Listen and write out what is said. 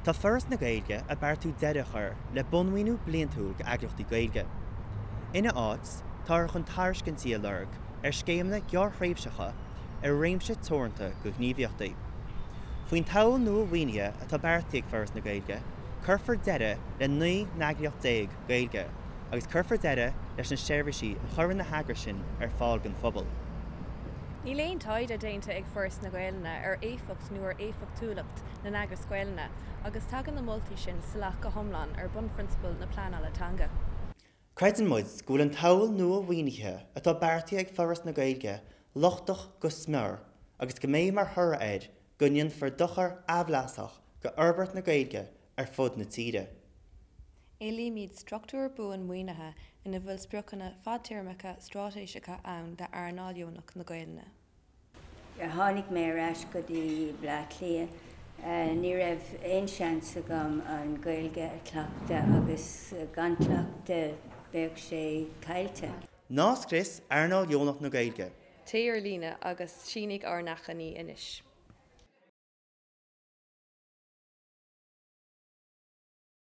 Tá Foras na Gaeilge ag beartú deireadh a chur le bunmhaoiniú bliantúil d'eagraíochtaí Gaeilge. Ina áit, táthar chun tairiscintí a lorg ar scéimeanna gearrthréimhseacha ar réimse teoranta de ghníomhaíochtaí. Faoin tsamhail nua mhaoinithe atá beartaithe ag Foras na Gaeilge, cuirfear deireadh le 19 n-eagraíocht Gaeilge agus cuirfear deireadh leis na seirbhísí a chuireann na heagrais sin ar fáil don phobal. Níl aon taighde déanta ag Foras na Gaelainne ar éifeacht nó ar éifeachtúlacht na n-eagras Gaelainne agus tagann na moltaí sin salach go hiomlán ar bunphrionsabail na pleanála teanga. Creideann muid go bhfuil an tsamhail nua mhaoinithe atá beartaithe ag Foras na Gaeilge lochtach go smior agus go mbeidh mar thoradh air go ndéanfar dochar aimhleasach go fhorbairt na Gaeilge ar fud na tíre. Éilímid struchtúr buan maoinithe ina bhfuil spriocanna fadtéarmacha straitéiseacha ann d'earnáil dheonach na Gaelainne. Tháinig mé ar ais go dtí Bleá Cliath. Ní raibh aon seans agam an Ghaeilge a chleachtadh agus gan cleachtadh bheadh sé caillte. Ná scrios earnáil dheonach na Gaeilge! Téigh ar líne agus sínigh ár n-achainí anois.